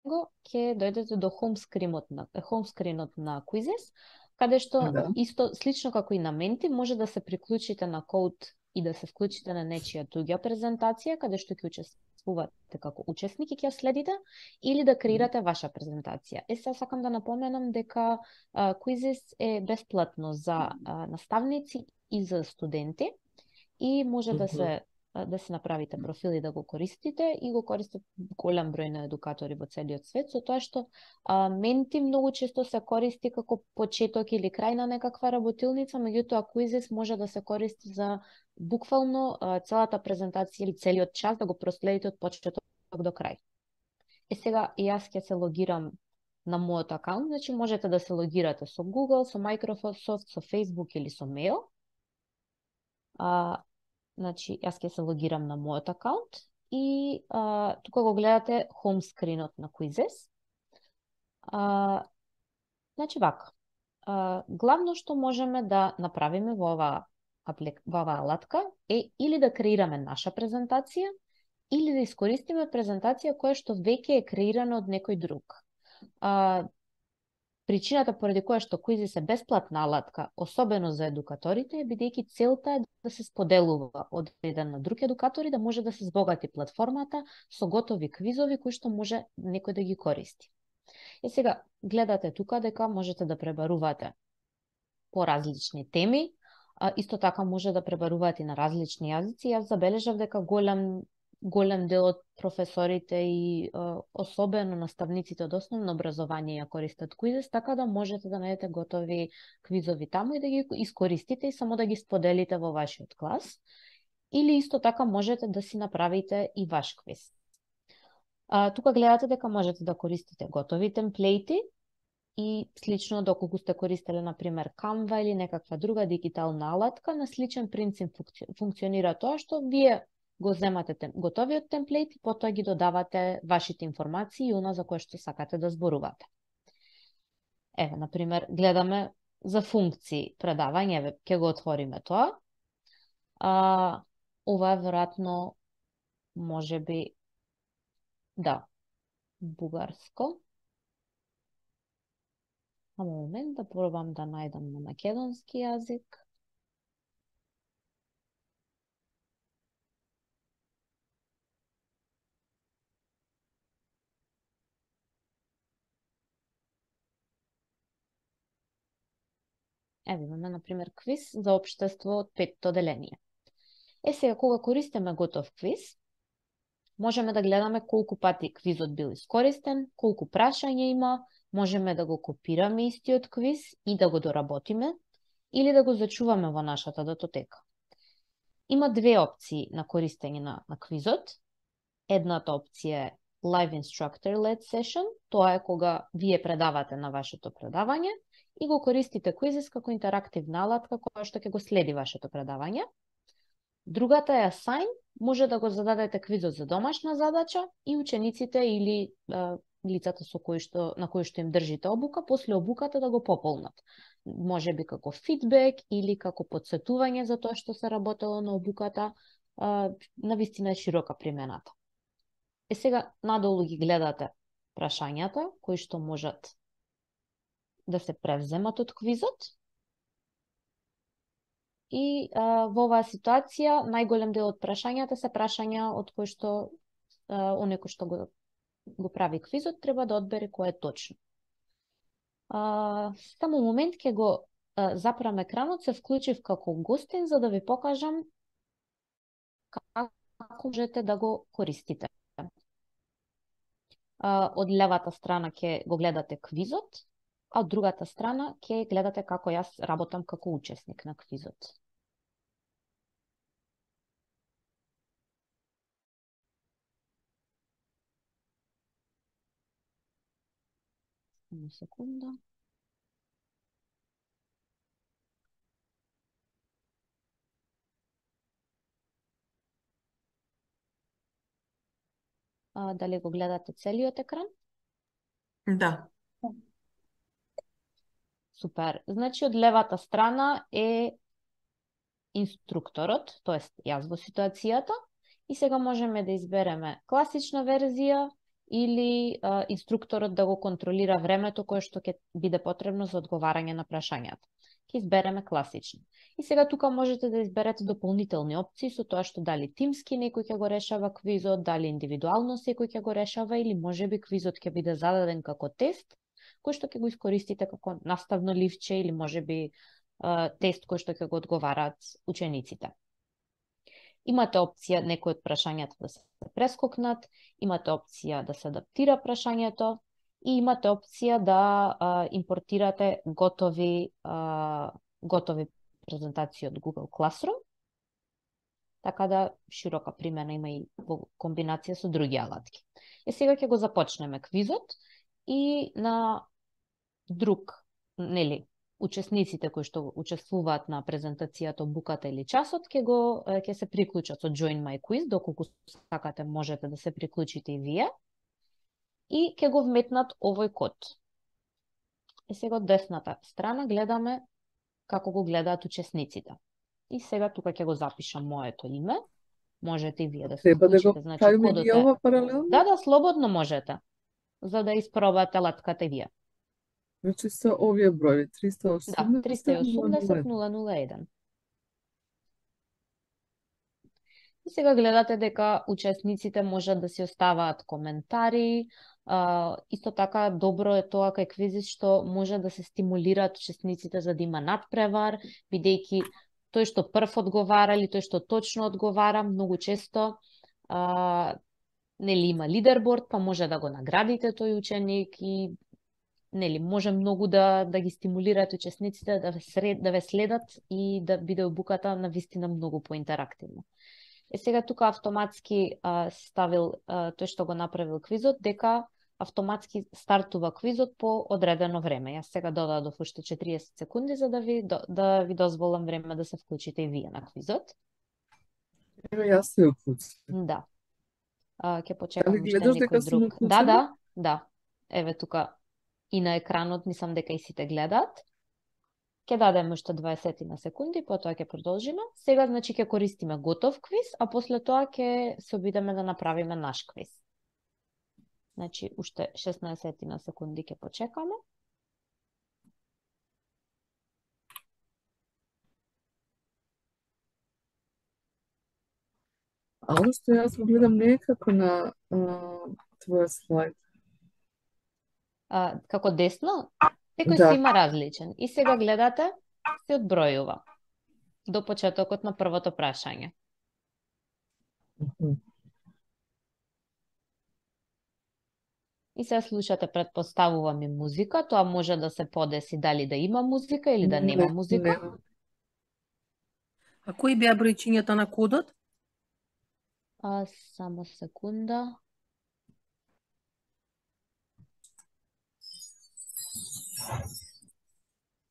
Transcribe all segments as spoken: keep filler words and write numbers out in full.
него, ќе дојдете до home screen-от на home screen-от на Quizzes, каде што Да. исто слично како и на Menti може да се приклучите на код и да се вклучите на нечија друга презентација, каде што ќе учествувате како учесник и ќе ја следите, или да креирате ваша презентација. Е, сега сакам да напоменам дека а, Quizzes е бесплатно за а, наставници и за студенти и може да се да се направите профил и да го користите, и го користат голем број на едукатори во целиот свет, со тоа што а, Menti многу често се користи како почеток или крај на некаква работилница, меѓутоа Quizzes може да се користи за буквално а, целата презентација или целиот час да го проследите од почеток до крај. Е, сега јас ќе се логирам на мојот акаунт, значи можете да се логирате со Google, со Microsoft, со Facebook или со mail. А, Значи, јас ќе се логирам на мојот акаунт и а, тука го гледате home screen-от на Quizzes. А, значи, вака. А, главно што можеме да направиме во оваа аплик... во оваа алатка е или да креираме наша презентација, или да искористиме презентација која што веќе е креирана од некој друг. А, Причината поради која што Quizzes е бесплатна алатка, особено за едукаторите, е бидејќи целта е да се споделува од еден на друг едукатор и да може да се збогати платформата со готови квизови кои што може некој да ги користи. Е, сега гледате тука дека можете да пребарувате по различни теми, а, исто така може да пребарувате на различни јазици. Јас забележав дека голем голем дел од професорите и а, особено наставниците од основно образование ја користат Quizzes, така да можете да најдете готови квизови таму и да ги искористите и само да ги споделите во вашиот клас. Или исто така можете да си направите и ваш квиз. А, тука гледате дека можете да користите готови темплеити и слично доколку сте користеле, например, Canva или некаква друга дигитална алатка, на сличен принцип функционира тоа што вие го земате тем, готовиот темплейт и потоа ги додавате вашите информации и она за кое што сакате да зборувате. Еве, например, гледаме за функции предавање, еве, ќе го отвориме тоа. А, ова е веројатно, може би, да, бугарско. Само момент да пробам да најдам на македонски јазик. Еве имаме, например, квиз за општество од петто деление. Е, сега, кога користиме готов квиз, можеме да гледаме колку пати квизот бил искористен, колку прашања има, можеме да го копираме истиот квиз и да го доработиме, или да го зачуваме во нашата датотека. Има две опции на користење на, на квизот. Едната опција е Live Instructor-led Session, тоа е кога вие предавате на вашето предавање и го користите Quizzes како интерактивна алатка која што ќе го следи вашето предавање. Другата е Assign, може да го зададете квизот за домашна задача и учениците или е, лицата со кои што, на кои што им држите обука, после обуката да го пополнат. Може би како фидбек или како подсетување за тоа што се работело на обуката, е, навистина е широка примената. Е, сега надолу ги гледате прашањата кои што можат да се превземат од квизот. И а, во оваа ситуација најголем дел од прашањата се прашања од кои што а, оној кој што го, го прави квизот треба да одбере кој е точно. А, само момент ќе го а, запрам екранот, се вклучив како гостин за да ви покажам како можете да го користите. А, од левата страна ќе го гледате квизот, а од другата страна ќе гледате како јас работам како учесник на квизот. Само секунда. А, дали го гледате целиот екран? Да. Супер. Значи, од левата страна е инструкторот, тоест јас во ситуацијата, и сега можеме да избереме класична верзија или а, инструкторот да го контролира времето кое што ќе биде потребно за одговарање на прашањата. Ќе избереме класично. И сега тука можете да изберете дополнителни опции со тоа што дали тимски некој ќе го решава квизот, дали индивидуално секој ќе го решава или можеби квизот ќе биде зададен како тест, кој што ќе го искористите како наставно ливче или можеби а, тест кој што ќе го одговараат учениците. Имате опција некој од прашањата да се прескокнат, имате опција да се адаптира прашањето и имате опција да а, импортирате готови а, готови презентации од Google Classroom, така да широка примена има и во комбинација со други алатки. Е сега ќе го започнеме квизот и на друг, нели, учесниците кои што учествуваат на презентацијата, буката или часот ќе го ќе се приклучат со Join My Quiz, доколку сакате можете да се приклучите и вие. И ќе го вметнат овој код. И сега од десната страна гледаме како го гледаат учесниците. И сега тука ќе го запишам моето име. Можете и вие да се Треба да го вклучите, значи правиме кодот и е. ова паралелно? Да, да, слободно можете. За да испробате латката и вие. Значи со овие броји Да, триста и осумдесет триста и осумдесет нула нула еден. нула нула еден. И сега гледате дека учесниците можат да си оставаат коментари. А, исто така добро е тоа кај квизит што може да се стимулираат учесниците за да има надпревар, бидејќи тој што прв одговара или тој што точно одговара, многу често а, нели има лидерборд, па може да го наградите тој ученик и нели може многу да да ги стимулираат учесниците да ве сред, да ве следат и да биде обуката на вистина многу поинтерактивно. Е сега тука автоматски а, ставил а, тој што го направил квизот дека автоматски стартува квизот по одредено време. Јас сега додадов уште четириесет секунди за да ви да ви дозволам време да се вклучите и вие на квизот. Ево јас се уклучив. Да. А, ќе почекам Дали уште гледаш некој дека сум друг. Да, уклучена? да, да. Еве тука и на екранот мислам дека и сите гледаат. Ќе дадеме уште дваесет на секунди, потоа ќе продолжиме. Сега значи ќе користиме готов квиз, а после тоа ќе се обидеме да направиме наш квиз. Значи уште шеснаесет на секунди ќе почекаме. А оно што јас го гледам не е како на а, твоја слайд. А, како десно, секој Да. си има различен. И сега гледате, се одбројува до почетокот на првото прашање. Мгм. И се слушате, предпоставувам и музика, тоа може да се подеси дали да има музика или да нема Не, музика. нема. А кои беа бројчињата на кодот? А, само секунда.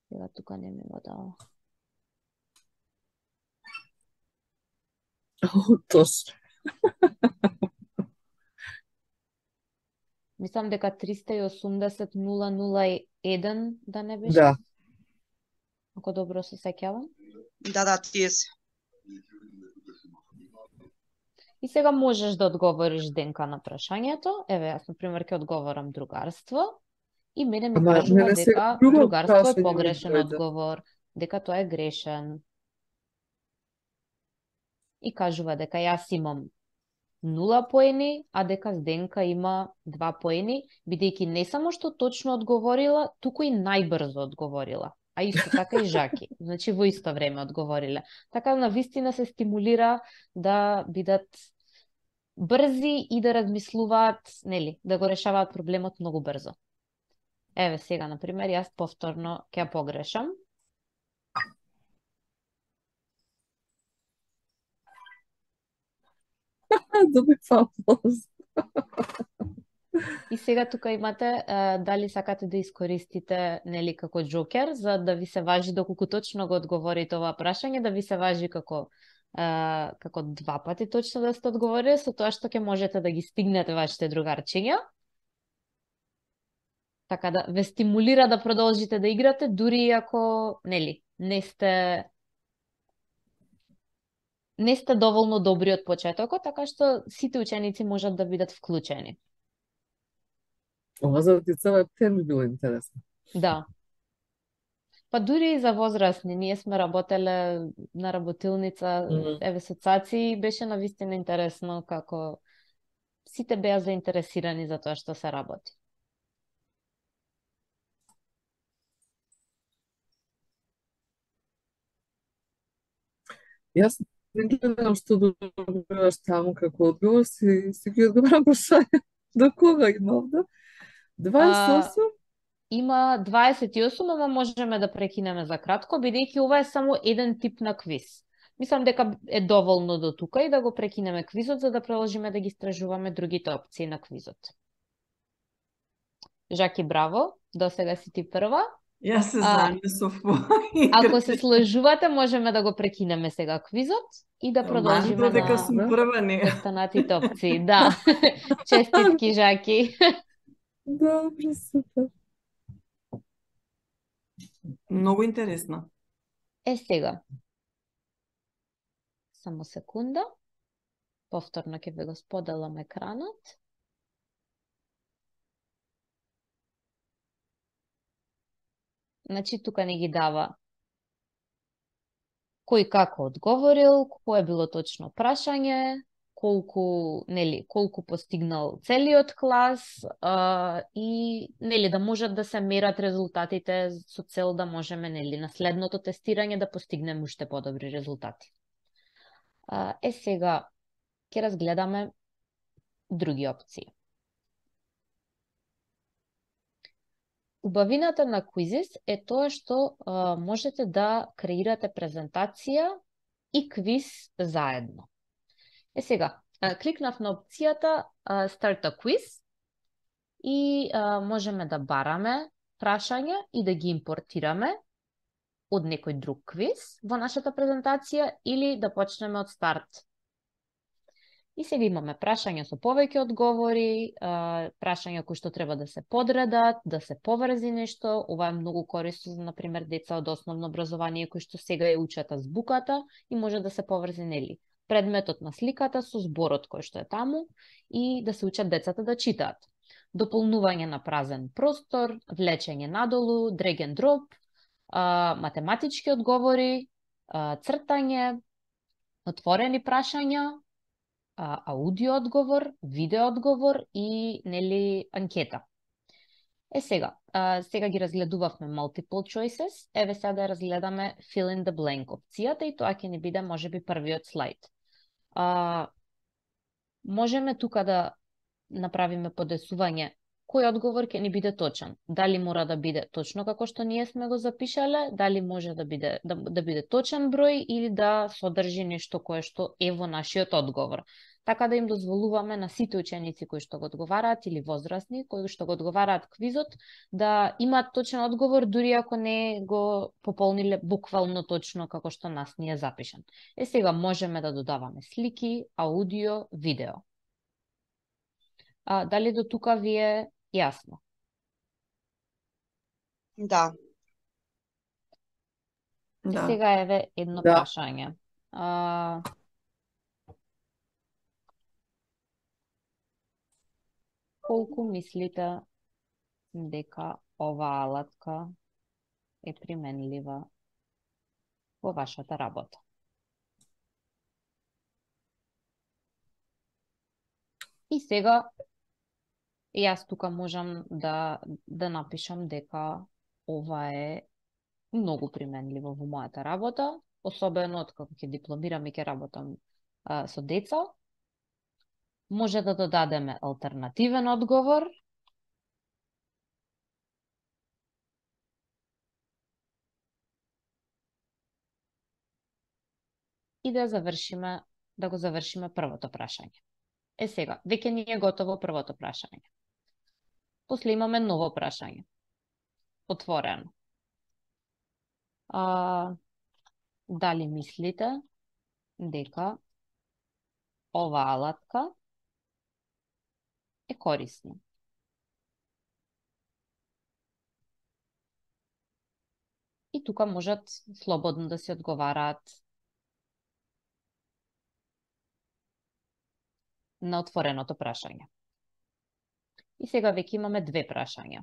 Сега тука не ми го дава. О, точно. Мислам дека триста и осумдесет нула нула еден да не беше. Да. Ако добро се сеќавам. Да, да, тие се. И сега можеш да одговориш денка на прашањето. Еве, јас, например, ќе одговорам другарство. И мене ми Ама кажува мене се дека друго другарство е прашање ми погрешен дојде. одговор, дека тоа е грешен. И кажува дека јас имам нула поени, а дека Зденка има два поени, бидејќи не само што точно одговорила, туку и најбрзо одговорила. А исто така и Жаки. Значи во исто време одговориле. Така на вистина се стимулира да бидат брзи и да размислуваат, нели, да го решаваат проблемот многу брзо. Еве сега, например, јас повторно ќе ја погрешам. Добив аплауз. И сега тука имате е, дали сакате да искористите нели како джокер за да ви се важи доколку точно го одговорите ова прашање, да ви се важи како е, како два пати точно да сте одговорили, со тоа што ќе можете да ги стигнете вашите другарчиња. Така да ве стимулира да продолжите да играте дури ако нели не сте не сте доволно добри од почетокот, така што сите ученици можат да бидат вклучени. Ова за децава птен би било интересно. Да. Па дури и за возрастни, ние сме работеле на работилница, Мгм. еве соцаци, беше навистина интересно како сите беа заинтересирани за тоа што се работи. Јас не гледам што добиваш таму како одговор, си, си ги одговарам прашања. До кога има овде? дваесет и осум? Има дваесет и осум, ама можеме да прекинеме за кратко, бидејќи ова е само еден тип на квиз. Мислам дека е доволно до тука и да го прекинеме квизот, за да продолжиме да ги истражуваме другите опции на квизот. Жаки, браво, до сега си ти прва. Јас се А, занесов по Ако се сложувате, можеме да го прекинеме сега квизот и да продолжиме Мажите дека на сум прва не. останатите опции. Да, честитки, Жаки. Добро, супер. Многу интересно. Е, сега. Само секунда. Повторно ќе ве го споделам екранот. Значи, тука не ги дава кој како одговорил, кое било точно прашање, колку, нели, колку постигнал целиот клас а, и нели да можат да се мерат резултатите со цел да можеме нели на следното тестирање да постигнеме уште подобри резултати. А, е сега ќе разгледаме други опции. Убавината на Quizzes е тоа што а, можете да креирате презентација и квиз заедно. Е сега, а, кликнав на опцијата а, Start a Quiz и а, можеме да бараме прашања и да ги импортираме од некој друг квиз во нашата презентација или да почнеме од старт. И сега имаме прашања со повеќе одговори, прашања кои што треба да се подредат, да се поврзи нешто. Ова е многу корисно за, например, деца од основно образование кои што сега ја учат азбуката и може да се поврзи, нели, предметот на сликата со зборот кој што е таму и да се учат децата да читаат. Дополнување на празен простор, влечење надолу, drag and drop, математички одговори, цртање, отворени прашања, аудио одговор, видео одговор и нели анкета. Е сега, а, сега ги разгледувавме multiple choices, еве сега да разгледаме fill in the blank опцијата и тоа ќе ни биде можеби првиот слайд. А, можеме тука да направиме подесување кој одговор ќе ни биде точен. Дали мора да биде точно како што ние сме го запишале, дали може да биде да, да биде точен број или да содржи нешто кое што е во нашиот одговор. Така да им дозволуваме на сите ученици кои што го одговараат или возрастни кои што го одговараат квизот да имаат точен одговор дури ако не го пополниле буквално точно како што нас ни е запишан. Е сега можеме да додаваме слики, аудио, видео. А, дали до тука ви е јасно? Да. Да. Сега еве едно Да. прашање. А, колку мислите дека оваа алатка е применлива во вашата работа? И сега јас тука можам да да напишам дека ова е многу применливо во мојата работа, особено откако ќе дипломирам и ќе работам а, со деца. Може да додадеме алтернативен одговор. И да завршиме, да го завршиме првото прашање. Е сега, веќе ни е готово првото прашање. После имаме ново прашање. Отворено. А, дали мислите дека оваа алатка е корисна? И тука можат слободно да се одговараат на отвореното прашање. И сега веќе имаме две прашања.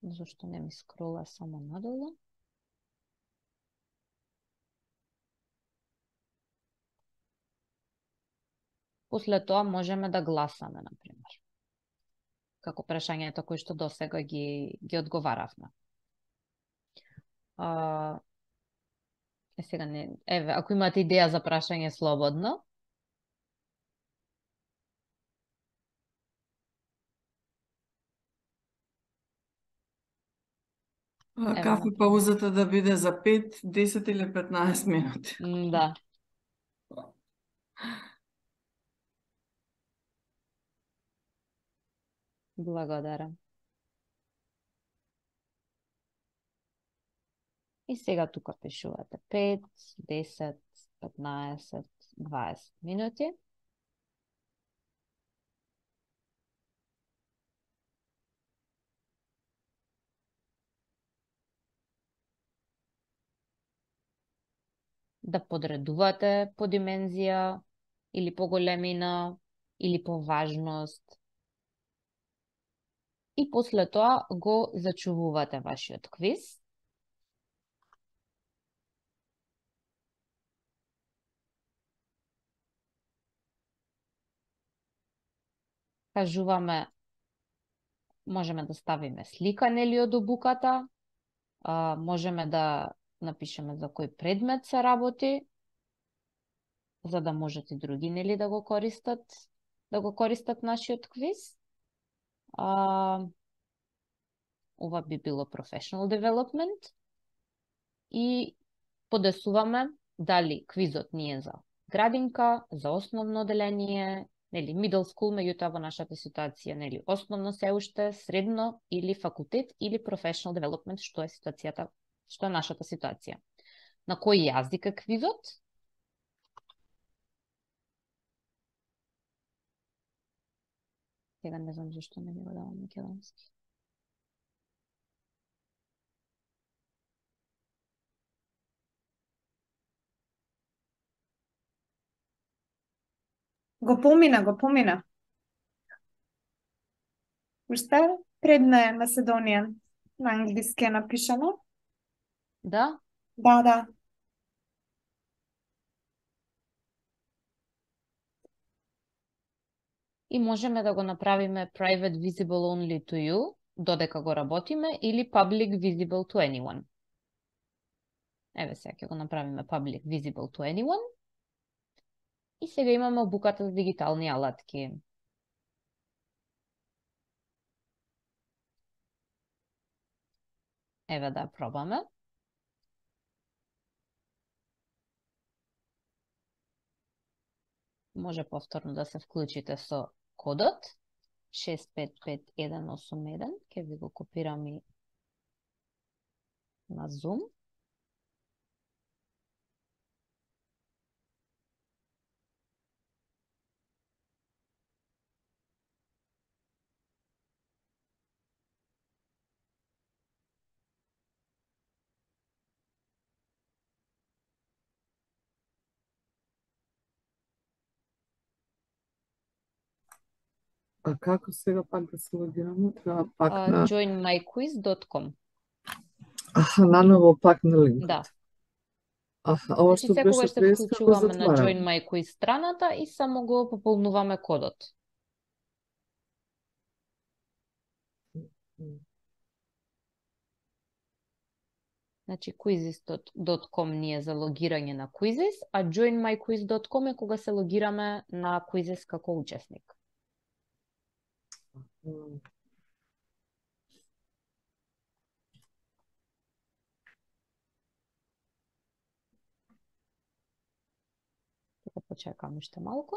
Зошто не ми скрола само надолу? После тоа можеме да гласаме, например. Како прашањата кои што досега ги, ги одговаравме. А, е, сега не, еве, ако имате идеја за прашање слободно. А, Еве, Кафе например. паузата да биде за пет, десет или петнаесет минути. М, Да. Благодарам. И сега тука пишувате пет, десет, петнаесет, дваесет минути. Да подредувате по димензија или по големина или по важност. И после тоа го зачувувате вашиот квиз. Кажуваме, можеме да ставиме слика нели од обуката, а, можеме да напишеме за кој предмет се работи, за да можат и други нели да го користат, да го користат нашиот квиз. А, ова би било professional development. И подесуваме дали квизот ни е за градинка, за основно оделение, нели middle school, меѓутоа во нашата ситуација нели основно се уште, средно или факултет или professional development, што е ситуацијата, што е нашата ситуација. На кој јазик е квизот? Сега не знам зашто не ми го давам македонски. Го помина, го помина. Уште предна е Macedonian. На англиски е напишано. Да? Да, да. И можеме да го направиме private visible only to you, додека го работиме, или public visible to anyone. Еве сега ќе го направиме public visible to anyone. И сега имаме обуката за дигитални алатки. Еве да пробаме. Може повторно да се вклучите со кодот шест пет пет еден осум еден. Ќе ви го копирам и на Zoom. А како сега пак да се логираме? Треба пак Uh, на... join my quiz dot com. Аха, наново пак на линкот. Да. Аха, ова Значи што секогаш беше се преска го вклучуваме на затварам. Join My Quiz страната и само го пополнуваме кодот. Значи quizzes dot com ни е за логирање на Quizzes, а join my quiz dot com е кога се логираме на Quizzes како учесник. М. Така почекам уште малку.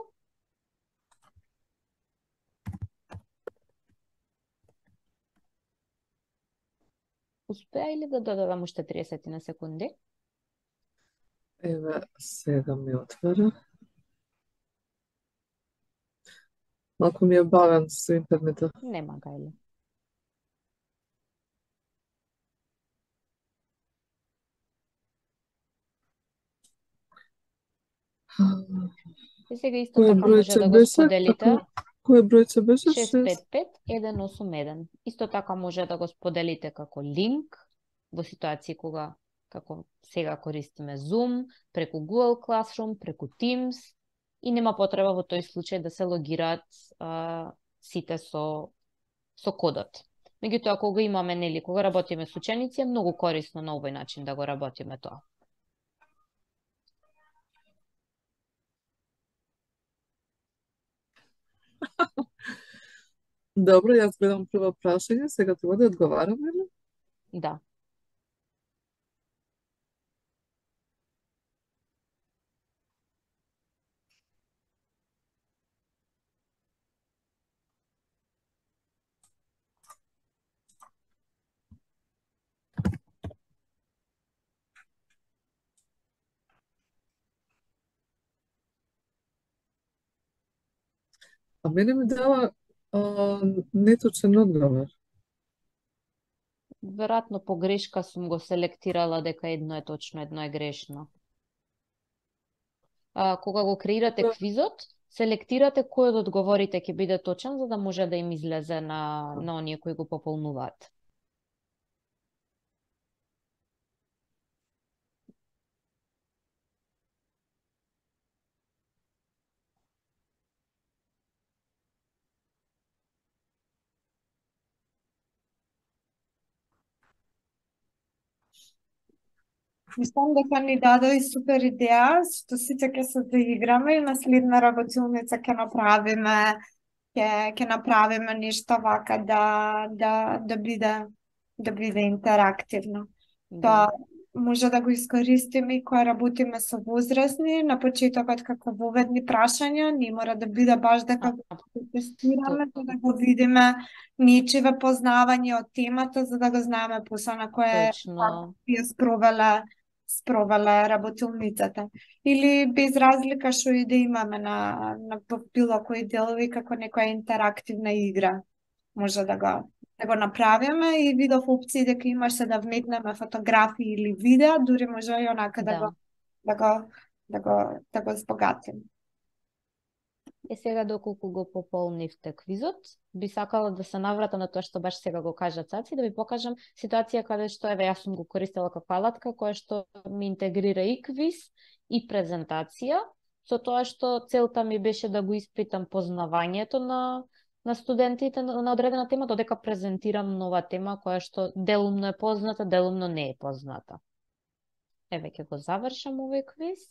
Успеа или да додадам уште триесет на секунди? Еве, сега ми отвора. Малку ми е бавен со интернетот. Нема гајле. И сега исто Кој така може бројче да го беше? споделите. Како, Кој бројче беше? шест пет пет еден осум еден. Исто така може да го споделите како линк во ситуации кога, како сега користиме Zoom, преку Google Classroom, преку Teams и нема потреба во тој случај да се логираат а, сите со со кодот. Меѓутоа, кога имаме, нели, кога работиме со ученици, е многу корисно на овој начин да го работиме тоа. Добро, јас гледам прво прашање, сега треба да одговарам, или? Да. А мене ми дава а, неточен одговор. Веројатно по грешка сум го селектирала дека едно е точно, едно е грешно. А, кога го креирате Да. квизот, селектирате кој од одговорите ќе биде точен, за да може да им излезе на, на оние кои го пополнуваат. Мислам дека ни даде и супер идеја, што сите ќе се доиграме и на следна работилница ќе направиме, ќе ќе направиме нешто вака да да да биде да биде интерактивно. Тоа може да го искористиме и кога работиме со возрастни, на почетокот како воведни прашања, не мора да биде баш дека го тестираме, за да го видиме нечиве познавање од темата, за да го знаеме после на кое Точно. ја спровеле спровеле работилницата. Или без разлика што и да имаме на, на било кои делови како некоја интерактивна игра. Може да го да го направиме и видов опции дека имаше да вметнеме фотографии или видеа, дури може и онака да, Да. го да го да го да го збогатим. Е, сега доколку го пополнивте квизот, би сакала да се наврата на тоа што баш сега го кажа Цаци, да ви покажам ситуација каде што, еве, јас сум го користела како алатка, која што ми интегрира и квиз, и презентација, со тоа што целта ми беше да го испитам познавањето на на студентите на одредена тема, додека презентирам нова тема која што делумно е позната, делумно не е позната. Еве, ќе го завршам овој квиз.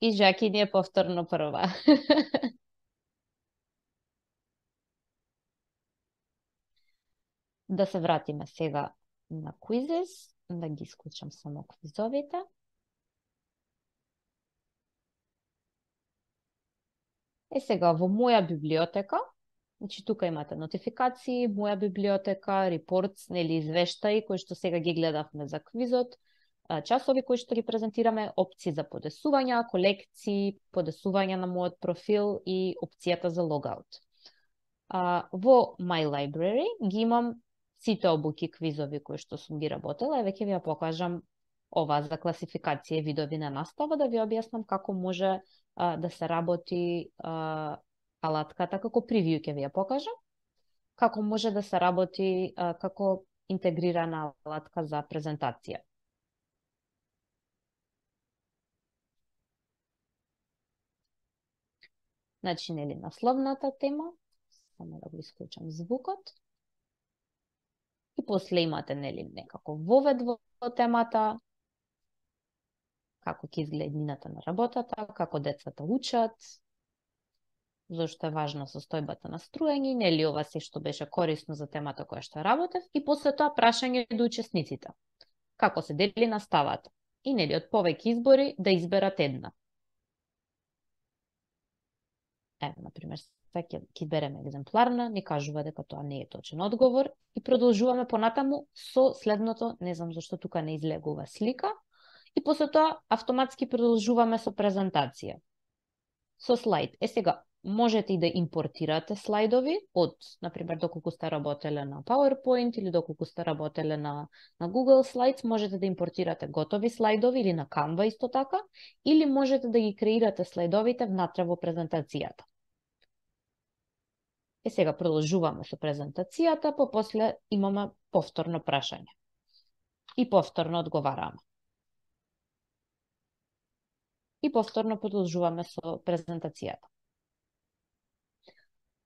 И Жаки ни е повторно прва. Да се вратиме сега на квизес, да ги исклучам само квизовите. Е, сега во моја библиотека, значи тука имате нотификации, моја библиотека, репортс, нели извештаи кои што сега ги гледавме за квизот, часови кои што ги презентираме, опции за подесувања, колекции, подесувања на мојот профил и опцијата за логаут. А, во My Library ги имам сите обуки квизови кои што сум ги работела, еве ќе ви ја покажам ова за класификација и видови на настава, да ви објаснам како може а, да се работи а, алатката, како превиу ќе ви ја покажам, како може да се работи а, како интегрирана алатка за презентација. Значи, нели, насловната тема, само да го исклучам звукот, и после имате, нели, некако вовед во темата, како ќе изгледа еднината на работата, како децата учат, зашто е важна состојбата на струење, нели ова се што беше корисно за темата која што работев, и после тоа прашање до учесниците. Како се дели наставата? И нели од повеќе избори да изберат една. Еве, например, сега ќе береме екземпларна, ни кажува дека тоа не е точен одговор и продолжуваме понатаму со следното, не знам зашто тука не излегува слика, и после тоа автоматски продолжуваме со презентација. Со слайд. Е, сега, можете и да импортирате слайдови од, например, доколку сте работеле на PowerPoint или доколку сте работеле на, на Google Slides, можете да импортирате готови слайдови или на Canva исто така, или можете да ги креирате слайдовите внатре во презентацијата. Е, сега продолжуваме со презентацијата, попосле имаме повторно прашање. И повторно одговараме. И повторно продолжуваме со презентацијата.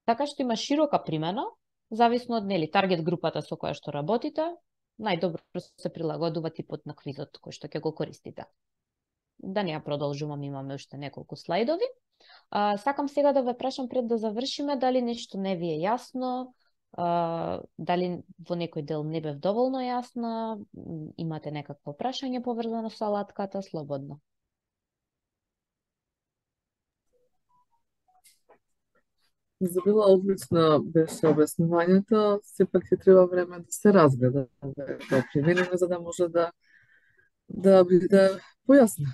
Така што има широка примена, зависно од нели таргет групата со која што работите, најдобро се прилагодува типот на квизот кој што ќе го користите. Да не ја продолжувам, имаме уште неколку слайдови. А, сакам сега да ве прашам пред да завршиме дали нешто не ви е јасно, а, дали во некој дел не бев доволно јасна, имате некакво прашање поврзано со алатката, слободно. За била одлична беше објаснувањето, сепак ќе треба време да се разгледа, да примениме за да може да да биде појасна.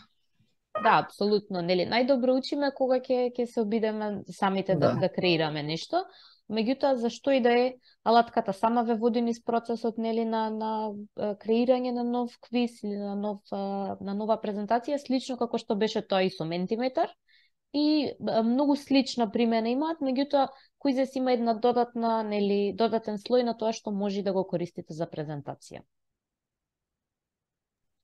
Да, апсолутно, нели, најдобро учиме кога ќе ќе се обидеме самите да, Да. да креираме нешто. Меѓутоа, зашто и да е, алатката сама ве води низ процесот, нели, на на е, креирање на нов квиз или на нов е, на нова презентација, слично како што беше тоа и со Mentimeter. И е, многу слична примена имаат, меѓутоа Quizzes има една додатна, нели, додатен слој на тоа што може да го користите за презентација.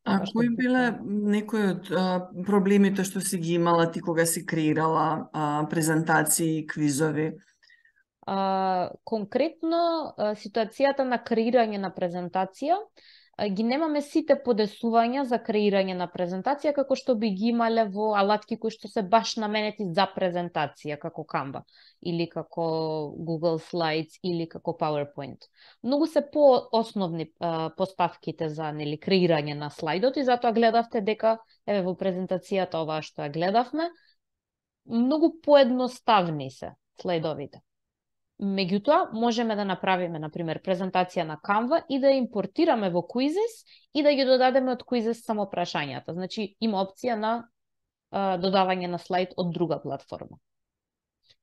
А Така што кои биле буквално- некои од а, проблемите што си ги имала ти кога си креирала а, презентации и квизови? А, конкретно, а, ситуацијата на креирање на презентација, а, ги немаме сите подесувања за креирање на презентација како што би ги имале во алатки кои што се баш наменети за презентација, како Canva или како Google Slides или како PowerPoint. Многу се по-основни а, поставките за, нели, креирање на слайдот и затоа гледавте дека еве во презентацијата оваа што ја гледавме, многу поедноставни се слайдовите. Меѓутоа, можеме да направиме, например, презентација на Canva и да ја импортираме во Quizzes и да ги додадеме од Quizzes само прашањата. Значи, има опција на а, додавање на слайд од друга платформа.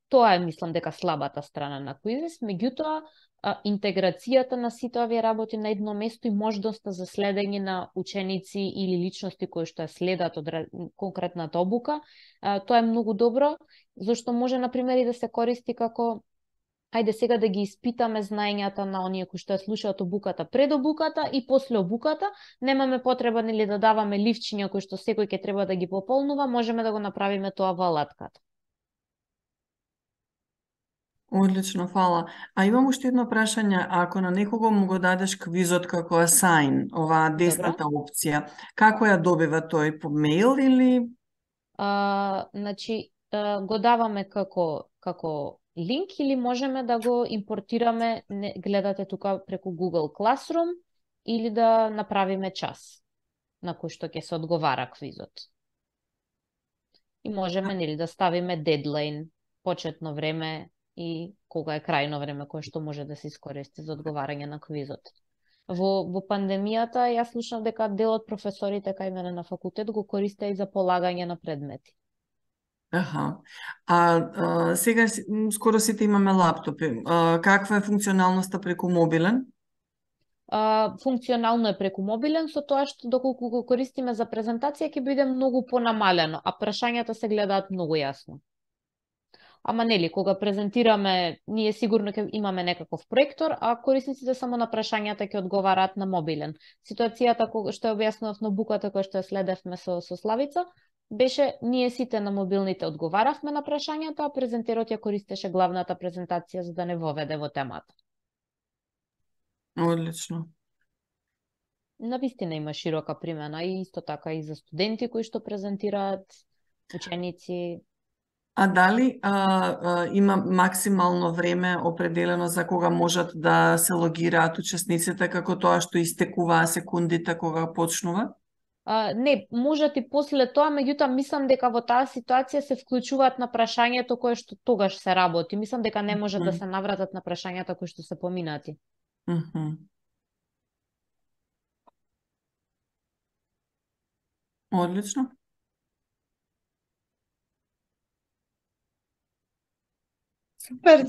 Тоа е, мислам, дека слабата страна на Quizzes, меѓутоа, а, интеграцијата на сите овие работи на едно место и можноста за следење на ученици или личности кои што ја следат од конкретната обука, а, тоа е многу добро, зашто може, например, и да се користи како ајде сега да ги испитаме знаењата на оние кои што ја слушаат обуката пред обуката и после обуката, немаме потреба, нели, да даваме ливчиња кои што секој ќе треба да ги пополнува, можеме да го направиме тоа во алатката. Одлично, фала. А имам уште едно прашање, ако на некого му го дадеш квизот како assign, оваа десната опција, како ја добива тој, по мејл или? А, значи, а, го даваме како како линк или можеме да го импортираме, не, гледате тука преку Google Classroom, или да направиме час на кој што ќе се одговара квизот. И можеме, нели, да ставиме дедлайн, почетно време и кога е крајно време кое што може да се искористи за одговарање на квизот. Во, во пандемијата јас слушнав дека дел од професорите кај мене на факултет го користеа и за полагање на предмети. Аха. А, а сега си- м, скоро сите имаме лаптопи. А, каква е функционалноста преку мобилен? А, функционално е преку мобилен, со тоа што доколку го користиме за презентација ќе биде многу понамалено, а прашањата се гледаат многу јасно. Ама нели, кога презентираме, ние сигурно ќе имаме некаков проектор, а корисниците само на прашањата ќе одговараат на мобилен. Ситуацијата кога што ја објаснував на буката која што ја следевме со, со Славица, беше ние сите на мобилните одговаравме на прашањата, а презентерот ја користеше главната презентација за да не воведе во темата. Одлично. Навистина има широка примена и исто така и за студенти кои што презентираат, ученици. А дали а, а, има максимално време определено за кога можат да се логираат учесниците, како тоа што истекуваа секундите кога почнува? А, не, можат и после тоа, меѓутоа мислам дека во таа ситуација се вклучуваат на прашањето кое што тогаш се работи. Мислам дека не можат да Мгм. се навратат на прашањата кои што се поминати. Мгм. Одлично. Супер,